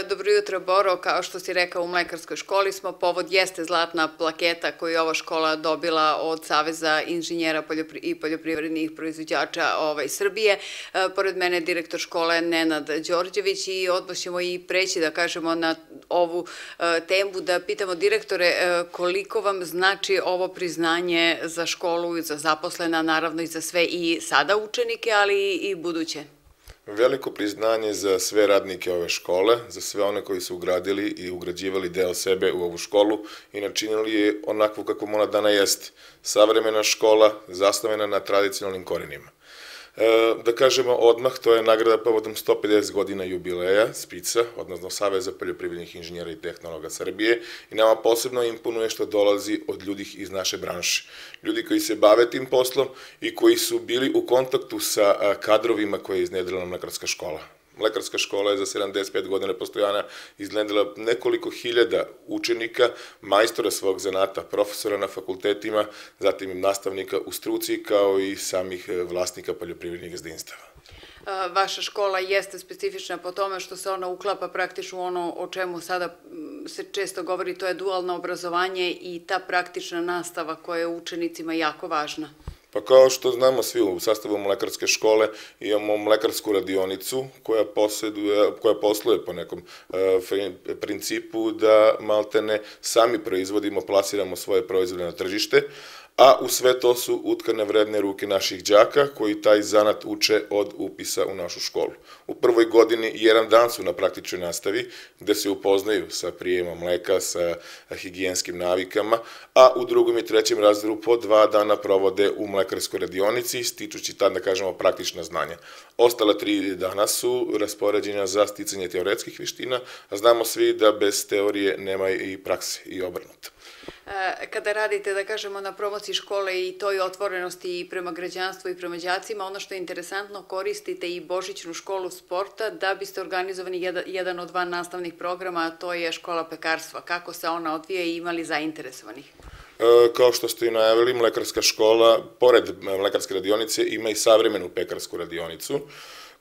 Dobro jutro, Boro. Kao što si rekao, u Mlekarskoj školi smo. Povod jeste zlatna plaketa koju je ova škola dobila od Saveza inženjera i poljoprivrednih proizvođača Srbije. Pored mene je direktor škole Nenad Đorđević i odmah ćemo i preći, da kažemo, na ovu temu, da pitamo direktore koliko vam znači ovo priznanje za školu, za zaposlena, naravno i za sve i sada učenike, ali i buduće. Veliko priznanje za sve radnike ove škole, za sve one koji su ugradili i ugrađivali deo sebe u ovu školu i načinili je onakvu kakvom ona dana jeste. Savremena škola, zasnovena na tradicionalnim korenima. Da kažemo odmah, to je nagrada povodom 150 godina jubileja SPIC-a, odnosno Saveza poljoprivrednih inženjera i tehnologa Srbije, i nama posebno imponuje što dolazi od ljudi iz naše branše. Ljudi koji se bave tim poslom i koji su bili u kontaktu sa kadrovima koje je iznedrila Mlekarska škola. Mlekarska škola je za 75 godina postojanja iznedrila nekoliko hiljada učenika, majstora svog zanata, profesora na fakultetima, zatim i nastavnika u struci, kao i samih vlasnika poljoprivrednih gazdinstava. Vaša škola jeste specifična po tome što se ona uklapa praktično u ono o čemu sada se često govori, to je dualno obrazovanje i ta praktična nastava koja je učenicima jako važna. Pa kao što znamo svi, u sastavu Mlekarske škole imamo mlekarsku radionicu koja posluje po nekom principu da maltene sami proizvodimo, plasiramo svoje proizvode na tržište, a u sve to su utkane vredne ruke naših đaka koji taj zanat uče od upisa u našu školu. U prvoj godini jedan dan su na praktičnoj nastavi gde se upoznaju sa prijemom mleka, sa higijenskim navikama, a u drugom i trećem razredu po 2 dana provode u mlekarskoj radionici, stičući tad, da kažemo, praktična znanja. Ostala 3 dana su raspoređena za sticanje teoretskih veština, a znamo svi da bez teorije nema i prakse i obrnuto. Kada radite, da kažemo, na promociji škole i toj otvorenosti i prema građanstvu i prema đacima, ono što je interesantno, koristite i Božićnu školu sporta da biste organizovani jedan od 2 nastavnih programa, a to je škola pekarstva. Kako se ona odvija i ima li zainteresovanih? Kao što ste i najavili, Mlekarska škola, pored mlekarske radionice, ima i savremenu pekarsku radionicu,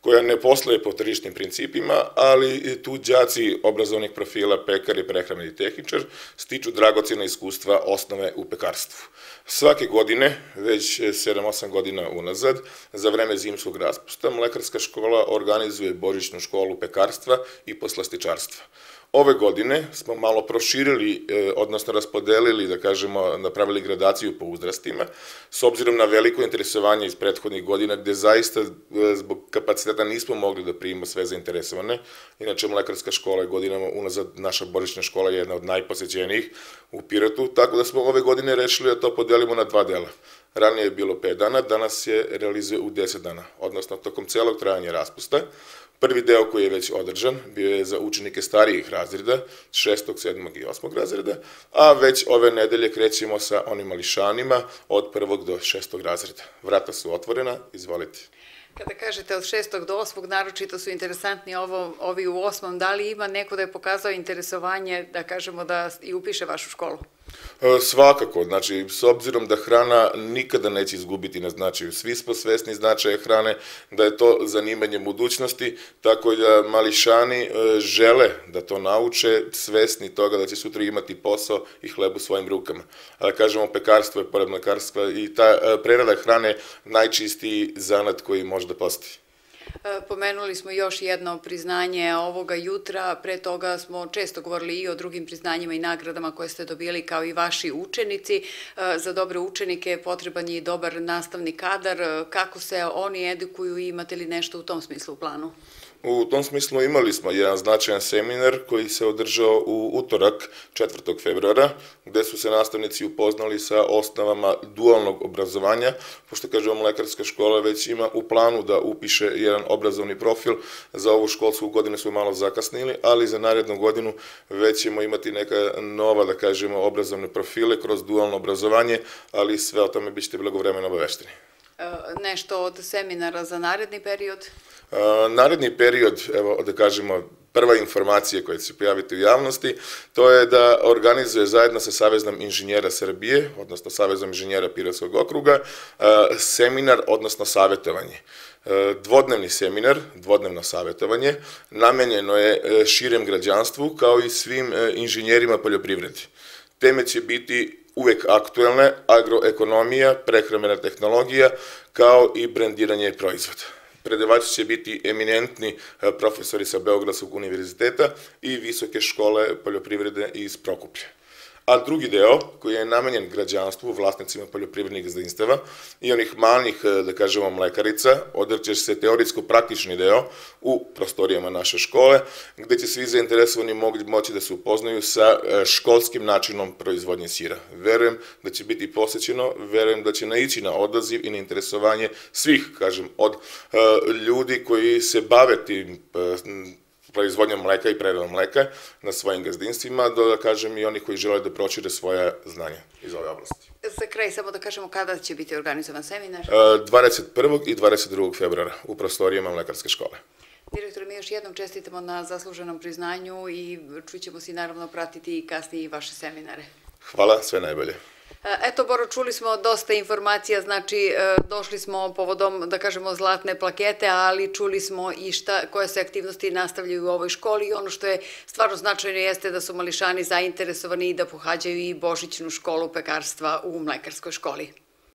koja ne posluje po tržišnim principima, ali tu đaci obrazovnih profila, pekar i prehrambeni tehničar, stiču dragocjena iskustva osnove u pekarstvu. Svake godine, već 7-8 godina unazad, za vreme zimskog raspusta, Mlekarska škola organizuje Božićnu školu pekarstva i poslastičarstva. Ove godine smo malo proširili, odnosno raspodelili, da kažemo, napravili gradaciju po uzrastima, s obzirom na veliko interesovanje iz prethodnih godina, gde zaista zbog kapaciteta nismo mogli da primimo sve zainteresovane. Inače, Mlekarska škola je godinama unazad, naša Božićna škola je jedna od najposećenijih u Pirotu, tako da smo ove godine rešili da to podelimo na 2 dela. Ranije je bilo 5 dana, danas se realizuje u 10 dana, odnosno tokom celog trajanja raspusta. Prvi deo koji je već održan bio je za učenike starijih razreda, 6., 7. i 8. razreda, a već ove nedelje krećemo sa onim mališanima od 1. do 6. razreda. Vrata su otvorena, izvolite. Kada kažete od 6. do 8. naročito su interesantni ovi u 8. Da li ima neko da je pokazao interesovanje, da kažemo, da i upiše vašu školu? Svakako, znači, s obzirom da hrana nikada neće izgubiti na značaju. Svi smo svesni značaja hrane, da je to zanimanje budućnosti, tako da mališani žele da to nauče, svesni toga da će sutra imati posao i hleb u svojim rukama. A da kažemo, pekarstvo je pored mlekarstva i ta prerada hrane najčistiji zanat koji može da postoji. Pomenuli smo još jedno priznanje ovoga jutra, pre toga smo često govorili i o drugim priznanjima i nagradama koje ste dobili kao i vaši učenici. Za dobre učenike potreban je i dobar nastavni kadar. Kako se oni edukuju i imate li nešto u tom smislu u planu? U tom smislu imali smo jedan značajan seminar koji se održao u utorak 4. februara, gde su se nastavnici upoznali sa osnovama dualnog obrazovanja, pošto, kažemo, Mlekarska škola već ima u planu da upiše jedan obrazovni profil. Za ovu školsku godinu smo malo zakasnili, ali za narednu godinu već ćemo imati neka nova, da kažemo, obrazovne profile kroz dualno obrazovanje, ali sve o tome bićete blagovremeno obavešteni. Nešto od seminara za naredni period? Naredni period, evo da kažemo, prva informacija koja će se pojaviti u javnosti, to je da organizuje zajedno sa Savezom inženjera Srbije, odnosno Savezom inženjera Pirotskog okruga, seminar, odnosno savjetovanje. Dvodnevni seminar, dvodnevno savjetovanje, namenjeno je širem građanstvu kao i svim inženjerima poljoprivredi. Teme će biti uvek aktuelne, agroekonomija, prehrambena tehnologija, kao i brendiranje proizvoda. Predavači će biti eminentni profesori sa Beogradskog univerziteta i Visoke škole poljoprivrede iz Prokuplja. A drugi deo, koji je namenjen građanstvu, vlasnicima poljoprivrednih gazdinstava i onih malih, da kažemo, mlekarica, održat će se teorijsko-praktični deo u prostorijama naše škole, gde će svi zainteresovani moći da se upoznaju sa školskim načinom proizvodnje sira. Verujem da će biti posećeno, verujem da će naići na odaziv i na interesovanje svih, kažem, od ljudi koji se bave tim proizvodnjom mleka i preradom mleka na svojim gazdinstvima, da kažem i oni koji žele da prošire svoje znanje iz ove oblasti. Za kraj samo da kažemo kada će biti organizovan seminar? 21. i 22. februara u prostorijama Mlekarske škole. Direktore, mi još jednom čestitamo na zasluženom priznanju i čućemo si naravno pratiti i kasnije i vaše seminare. Hvala, sve najbolje. Eto, Boro, čuli smo dosta informacija, znači došli smo povodom, da kažemo, zlatne plakete, ali čuli smo i koje se aktivnosti nastavljaju u ovoj školi i ono što je stvarno značajno jeste da su mališani zainteresovani i da pohađaju i božićnu školu pekarstva u Mlekarskoj školi.